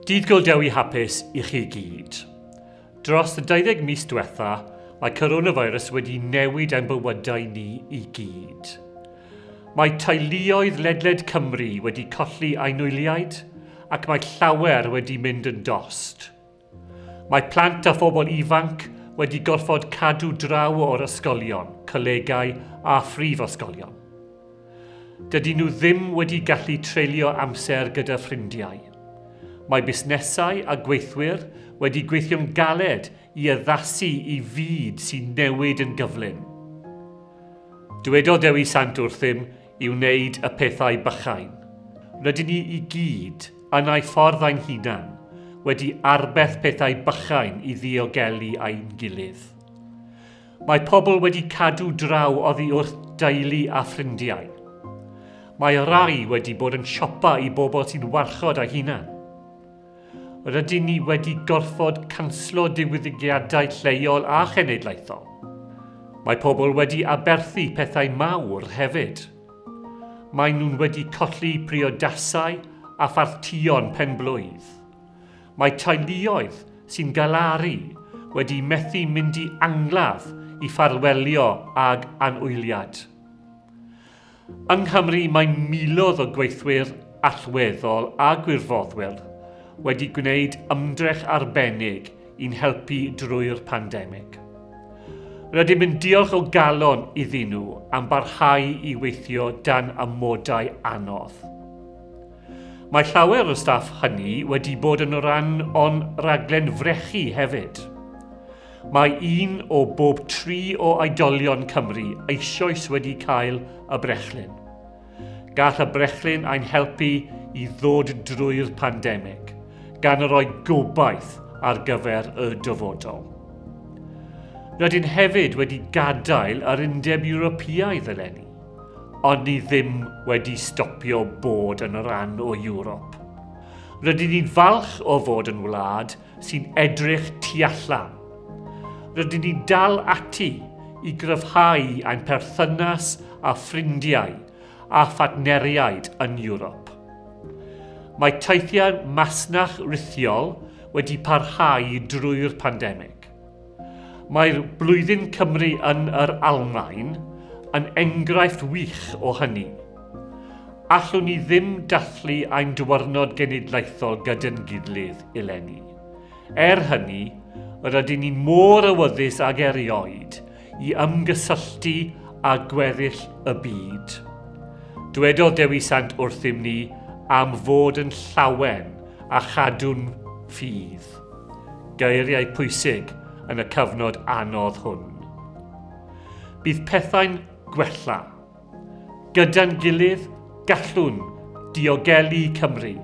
Dydd Gŵyl Dewi hapus i chi gyd. Dros y 20 mis diwetha, mae coronavirus wedi newid ein bywydau ni i gyd. Mae teuluoedd ledled Cymru wedi colli anwyliaid ac mae llawer wedi mynd yn dost. Mae plant a phobl ifanc wedi gorfod cadw draw o'r ysgolion, colegau a phrifysgolion. Dydyn nhw ddim wedi gallu treulio amser gyda ffrindiau. Mae busnesau a gweithwyr wedi gweithio'n galed i addasu i fyd sy'n newid yn gyflym. Dywedodd Dewi Sant wrthym i wneud y pethau bychain. Rydyn ni i gyd, yn ei ffordd ein hunan, wedi arbed pethau bychain i ddiogelu ein gilydd. Mae pobl wedi cadw draw oddi wrth deulu a ffrindiau. Mae rai wedi bod yn siopa i bobl sy'n warchod eu hunan. Rydyn ni wedi gorfod canslo digwyddiadau lleol a chenedlaethol. Mae pobl wedi aberthu pethau mawr hefyd. Mae nhw'n wedi colli priodasau a phartïon penblwydd. Mae teuluoedd sy'n galaru wedi methu mynd i angladd i ffarwelio ag anwyliad. Yng Nghymru mae miloedd o gweithwyr allweddol a gwirfoddwyr wedi gwneud ymdrech arbennig i'n helpu drwy'r pandemig. Rydym yn diolch o galon iddyn nhw am barhau i weithio dan amodau anodd. Mae llawer o staff hynny wedi bod yn rhan o'n rhaglen frechu hefyd. Mae 1 o bob 3 o oedolion Cymru eisoes wedi cael y brechlyn. Gall y brechlyn ein helpu i ddod drwy'r pandemig, gan roi gobaith ar gyfer y dyfodol. Rydyn hefyd wedi gadael yr Undeb Ewropeaidd eleni, ond ni ddim wedi stopio bod yn rhan o Ewrop. Rydyn ni'n falch o fod yn wlad sy'n edrych tu allan. Rydyn ni'n dal ati i gryfhau ein perthynas â ffrindiau a phartneriaid yn Ewrop. Mae teithiau masnach rithiol wedi parhau drwy'r pandemig. Mae'r Blwyddyn Cymru yn yr Almaen yn enghraifft wych o hynny. Allwn ni ddim dathlu ein diwrnod genedlaethol gyda'n gilydd eleni. Er hynny, rydyn ni mor awyddus ag erioed i ymgysylltu â gweddill y byd. Dywedodd Dewi Sant wrthym ni am fod yn llawen a chadw'n ffydd. Geiriau pwysig yn y cyfnod anodd hwn. Bydd pethau'n gwella. Gyda'n gilydd, gallwn diogelu Cymru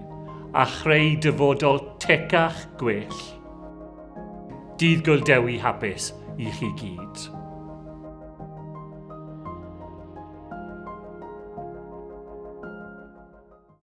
a chreu dyfodol tecach gwell. Dydd Gŵyl Dewi hapus i chi gyd.